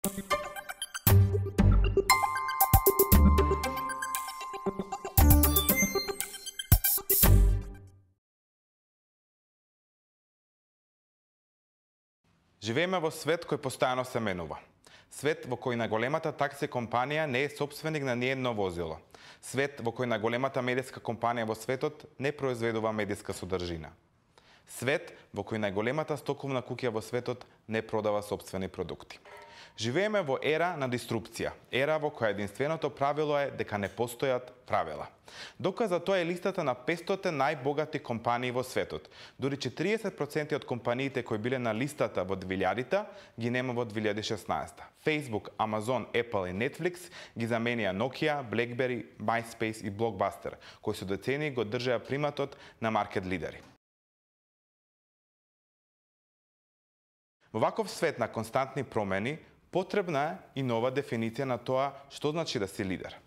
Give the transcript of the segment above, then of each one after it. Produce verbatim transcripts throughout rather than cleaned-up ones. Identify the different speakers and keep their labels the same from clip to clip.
Speaker 1: Живееме во свет кој постојано се менува. Свет во кој најголемата такси компанија не е сопственик на ниедно возило. Свет во кој најголемата медиска компанија во светот не произведува медиска содржина. Свет во кој најголемата стоковна куќа во светот не продава сопствени продукти. Живееме во ера на диструпција, ера во која единственото правило е дека не постојат правила. Доказ за тоа е листата на петстотте најбогати компании во светот. Дури четиридесет проценти од компаниите кои биле на листата во двилјадите ги нема во две илјади и шеснаесета. Facebook, Amazon, Apple и Netflix ги заменија Nokia, BlackBerry, MySpace и Blockbuster, кои со децении го држеа приматот на маркет лидери. Во ваков свет на константни промени, потребна е и нова дефиниција на тоа што значи да си лидер.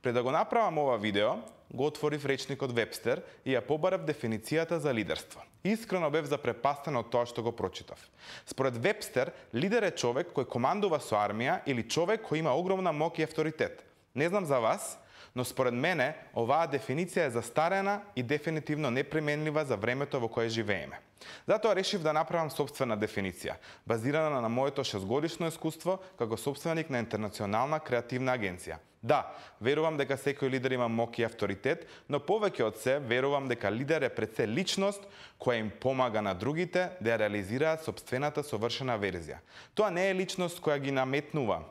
Speaker 1: Пред да го направам ова видео, го отворив речникот Вебстер и ја побарав дефиницијата за лидерство. Искрено бев запрепастен од тоа што го прочитав. Според Вебстер, лидер е човек кој командува со армија или човек кој има огромна моќ и авторитет. Не знам за вас, но според мене оваа дефиниција е застарена и дефинитивно неприменлива за времето во кое живееме. Затоа решив да направам сопствена дефиниција, базирана на моето шестгодишно искуство како сопственик на интернационална креативна агенција. Да, верувам дека секој лидер има моќ и авторитет, но повеќе од се верувам дека лидер е пред се личност која им помага на другите да ја реализираат сопствената совршена верзија. Тоа не е личност која ги наметнува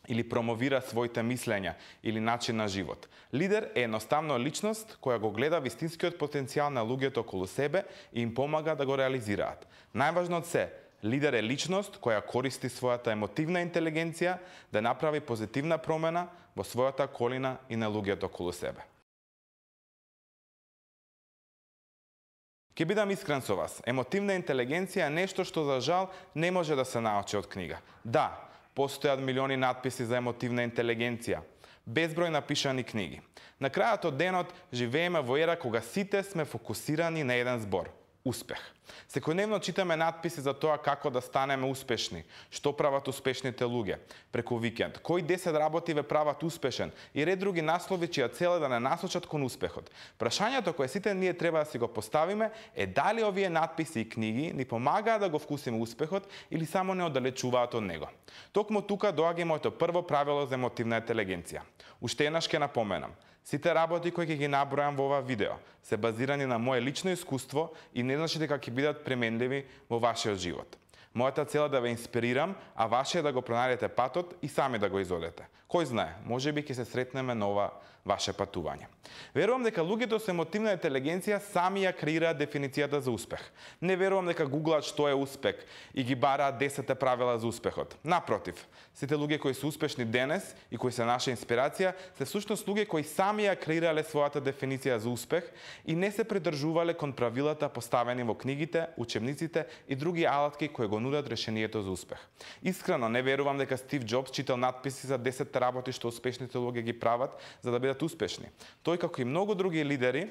Speaker 1: или промовира своите мислења или начин на живот. Лидер е едноставно личност која го гледа вистинскиот потенцијал на луѓето околу себе и им помага да го реализираат. Најважно од се, лидер е личност која користи својата емотивна интелигенција да направи позитивна промена во својата околина и на луѓето околу себе. Ке бидам искрен со вас, емотивна интелигенција е нешто што за жал не може да се научи од книга. Да, постојат милиони надписи за емотивна интелигенција, безброј напишани книги. На крајот од денот живееме во ера кога сите сме фокусирани на еден збор – успех. Секојдневно читаме надписи за тоа како да станеме успешни, што прават успешните луѓе преку викенд, кои десет работи ве прават успешен и ред други наслови чија цел е да не насочат кон успехот. Прашањето кое сите ние треба да си го поставиме е дали овие надписи и книги ни помагаат да го вкусиме успехот или само не оддалечуваат од него. Токму тука доаѓа и моето прво правило за емотивна интелигенција. Уште еднаш ќе напоменам. Сите работи кои ќе ги набројам во ова видео се базирани на мое лично искуство и не значи дека ќе бидат применливи во вашиот живот. Мојата цел е да ве инспирирам, а ваше е да го пронајдете патот и сами да го изодете. Кој знае, можеби ќе се сретнеме на ова ваше патување. Верувам дека луѓето со емотивна интелигенција сами ја креираат дефиницијата за успех. Не верувам дека гуглаат што е успех и ги бараат десет правила за успехот. Напротив, сите луѓе кои се успешни денес и кои се наша инспирација се всушност луѓе кои сами ја креирале својата дефиниција за успех и не се придржувале кон правилата поставени во книгите, учебниците и други алатки кои го нудат решението за успех. Искрено не верувам дека Стив Џобс читал надписи за десет работи што успешните луѓе ги прават за да бидат успешни. Тој, како и многу други лидери,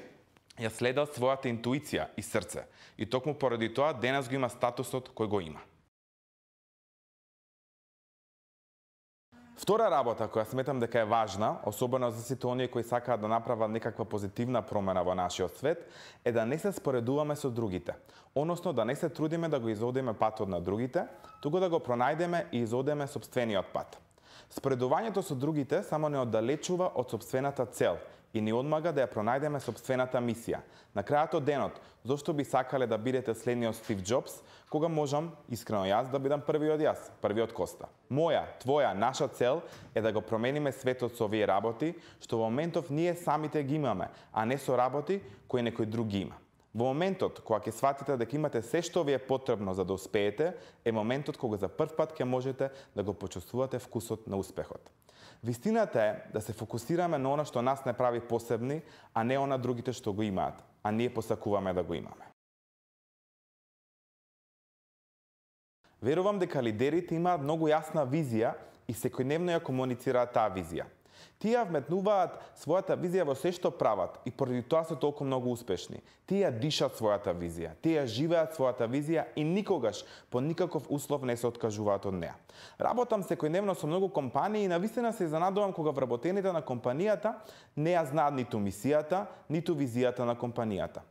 Speaker 1: ја следал својата интуиција и срце. И токму поради тоа денес го има статусот кој го има. Втора работа која сметам дека е важна, особено за сите оние кои сакаат да направат некаква позитивна промена во нашиот свет, е да не се споредуваме со другите, односно да не се трудиме да го изодиме патот на другите, туку да го пронајдеме и изодеме сопствениот пат. Споредувањето со другите само не оддалечува од сопствената цел и ни одмага да ја пронајдеме сопствената мисија. На крајот од денот, зошто би сакале да бидете следниот Стив Џобс, кога можам, искрено јас, да бидам првиот јас, првиот Коста. Моја, твоја, наша цел е да го промениме светот со овие работи, што во моментов ние самите ги имаме, а не со работи кои некој друг ги има. Во моментот кога ќе сватите дека имате се што ви е потребно за да успеете, е моментот кога за прв пат ќе можете да го почувствувате вкусот на успехот. Вистината е да се фокусираме на она што нас не прави посебни, а не она другите што го имаат, а ние посакуваме да го имаме. Верувам дека лидерите имаат многу јасна визија и секојдневно ја комуницираат таа визија. Тие вметнуваат својата визија во се што прават и поради тоа се толку многу успешни. Тие дишат својата визија, тие живеат својата визија и никогаш по никаков услов не се откажуваат од неа. Работам секојдневно со многу компании и навистина се изненадувам кога вработените на компанијата не ја знаат ниту мисијата, ниту визијата на компанијата.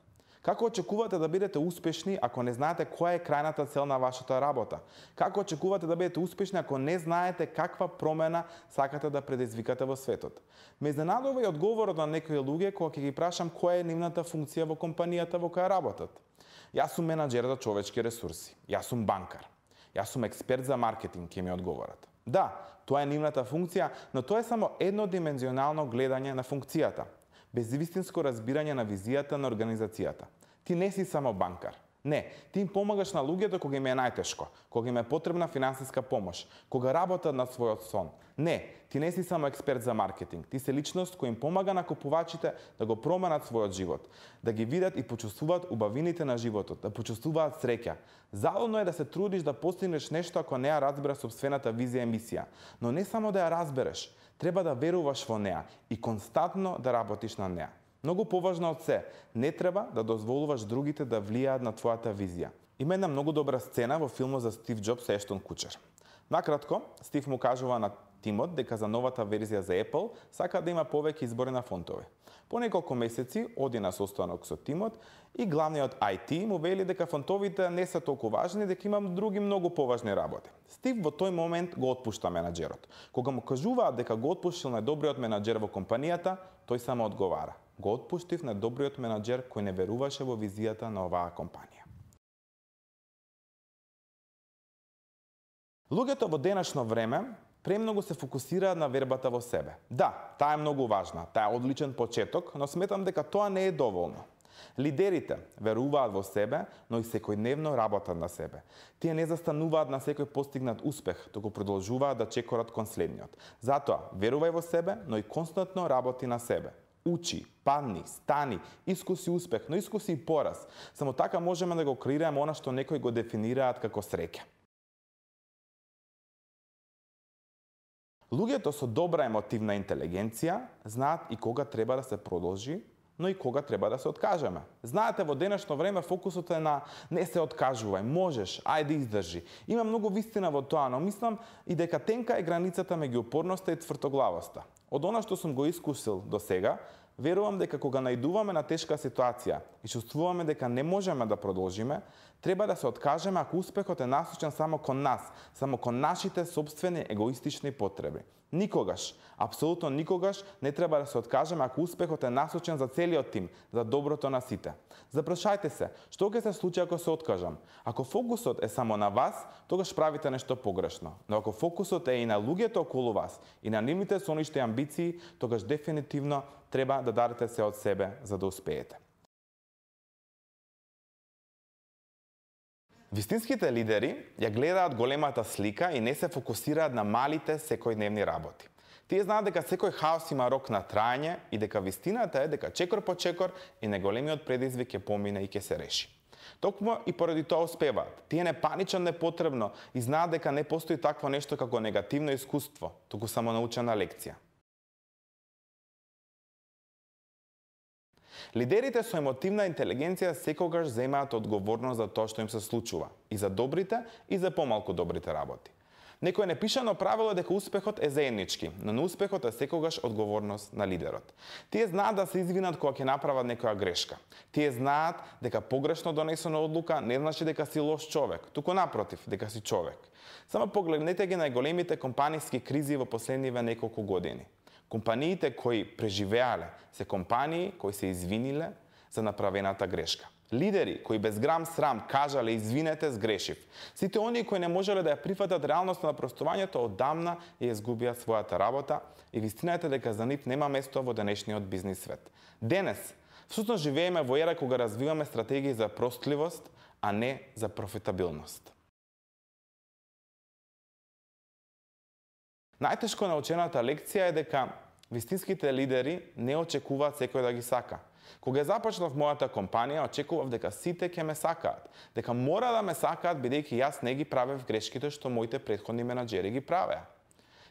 Speaker 1: Како очекувате да бидете успешни ако не знаете која е крајната цел на вашата работа? Како очекувате да бидете успешни ако не знаете каква промена сакате да предизвикате во светот? Ме изненадува и одговорот на некои луѓе кога ќе ги прашам која е нивната функција во компанијата во која работат. Јас сум менаџер за човечки ресурси, јас сум банкар, јас сум експерт за маркетинг, ќе ми одговорат. Да, тоа е нивната функција, но тоа е само еднодимензионално гледање на функцијата, без вистинско разбирање на визијата на организацијата. Ти не си само банкар. Не, ти им помагаш на луѓето кога им е најтешко, кога им е потребна финансиска помош, кога работат на својот сон. Не, ти не си само експерт за маркетинг, ти си личност која им помага на купувачите да го променат својот живот, да ги видат и почувствуваат убавините на животот, да почувствуваат среќа. Залудно е да се трудиш да постигнеш нешто ако не ја разбереш сопствената визија и мисија, но не само да ја разбереш, треба да веруваш во неа и константно да работиш на неа. Многу поважно од се, не треба да дозволуваш другите да влијаат на твојата визија. Има една многу добра сцена во филмот за Стив Џобс и Ештон Кучер. Накратко, Стив му кажува на тимот дека за новата верзија за Apple сака да има повеќе избори на фонтови. По неколку месеци оди на состанок со тимот и главниот ај ти му вели дека фонтовите не се толку важни, дека имам други многу поважни работи. Стив во тој момент го отпушта менаџерот. Кога му кажуваат дека го отпуштил најдобриот менаџер во компанијата, тој само одговара: го отпуштив најдобриот менаџер кој не веруваше во визијата на оваа компанија. Луѓето во денешно време премногу се фокусираат на вербата во себе. Да, таа е многу важна, таа е одличен почеток, но сметам дека тоа не е доволно. Лидерите веруваат во себе, но и секојдневно работат на себе. Тие не застануваат на секој постигнат успех, туку продолжуваат да чекорат кон следниот. Затоа, верувај во себе, но и константно работи на себе. Учи, падни, стани, искуси успех, но искуси и пораз. Само така можеме да го креираме она што некои го дефинираат како среќа. Луѓето со добра емотивна интелигенција знаат и кога треба да се продолжи, но и кога треба да се откажеме. Знаете, во денешно време фокусот е на не се откажувај, можеш, ајде издржи. Има многу вистина во тоа, но мислам и дека тенка е границата меѓу упорноста и твртоглавоста. Од она што сум го искусил до сега, верувам дека кога најдуваме на тешка ситуација и чувствуваме дека не можеме да продолжиме, треба да се откажеме ако успехот е насочен само кон нас, само кон нашите собствени егоистични потреби. Никогаш, апсолутно никогаш не треба да се откажеме ако успехот е насочен за целиот тим, за доброто на сите. Запрашајте се, што ќе се случи ако се откажам? Ако фокусот е само на вас, тогаш правите нешто погрешно. Но ако фокусот е и на луѓето околу вас, и на нивните соништи амбиции, тогаш дефинитивно треба да дадете се од себе за да успеете. Вистинските лидери ја гледаат големата слика и не се фокусираат на малите секојдневни работи. Тие знаат дека секој хаос има рок на траење и дека вистината е дека чекор по чекор и неголемиот предизвик ќе помине и ќе се реши. Токму и поради тоа успеваат. Тие не паничат непотребно и знаат дека не постои такво нешто како негативно искуство, туку само научена лекција. Лидерите со емотивна интелигенција секогаш земаат одговорност за тоа што им се случува, и за добрите, и за помалку добрите работи. Некој непишано правило е дека успехот е заеднички, но неуспехот е секогаш одговорност на лидерот. Тие знаат да се извинат кога ќе направат некоја грешка. Тие знаат дека погрешно донесена одлука не значи дека си лош човек, туку напротив, дека си човек. Само погледнете ги најголемите компаниски кризи во последниве неколку години. Компаниите кои преживеале се компании кои се извиниле за направената грешка. Лидери кои без грам срам кажале извинете, сгрешив. Сите оние кои не можеле да ја прифатат реалноста на простувањето одамна ја изгубија својата работа и вистината дека за нив нема место во денешниот бизнис свет. Денес, всушност живееме во ера кога развиваме стратегии за простливост, а не за профитабилност. Најтешко научената лекција е дека вистинските лидери не очекуваат секој да ги сака. Кога започнав мојата компанија, очекував дека сите ќе ме сакаат, дека мора да ме сакаат бидејќи јас не ги правев грешките што моите претходни менаџери ги правеа.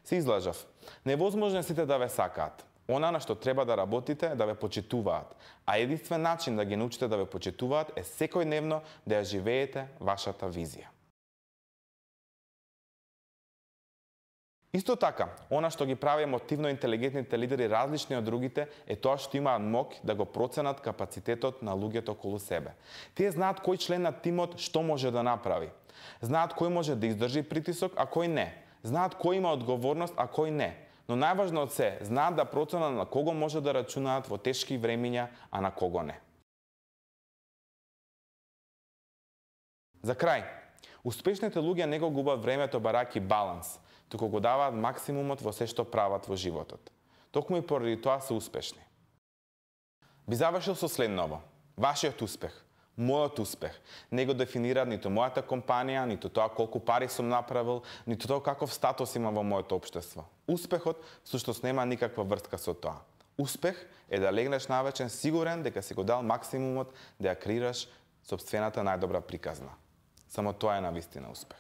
Speaker 1: Се излажав. Невозможно е сите да ве сакаат. Она на што треба да работите е да ве почитуваат, а единствен начин да ги научите да ве почитуваат е секојдневно да ја живеете вашата визија. Исто така, она што ги прави емотивно интелигентните лидери различни од другите е тоа што имаат моќ да го проценат капацитетот на луѓето околу себе. Тие знаат кој член на тимот што може да направи. Знаат кој може да издржи притисок, а кој не. Знаат кој има одговорност, а кој не. Но најважно од се, знаат да проценат на кого може да рачунаат во тешки времиња, а на кого не. За крај, успешните луѓе не го губат времето барајќи баланс, туку го даваат максимумот во се што прават во животот. Токму и поради тоа се успешни. Би завршил со следново. Вашиот успех, мојот успех, не го дефинираат ниту мојата компанија, ниту тоа колку пари сум направил, ниту тоа каков статус има во моето општество. Успехот всушност нема никаква врска со тоа. Успех е да легнеш навечер сигурен дека си го дал максимумот да ја креираш сопствената најдобра приказна. Само тоа е навистина успех.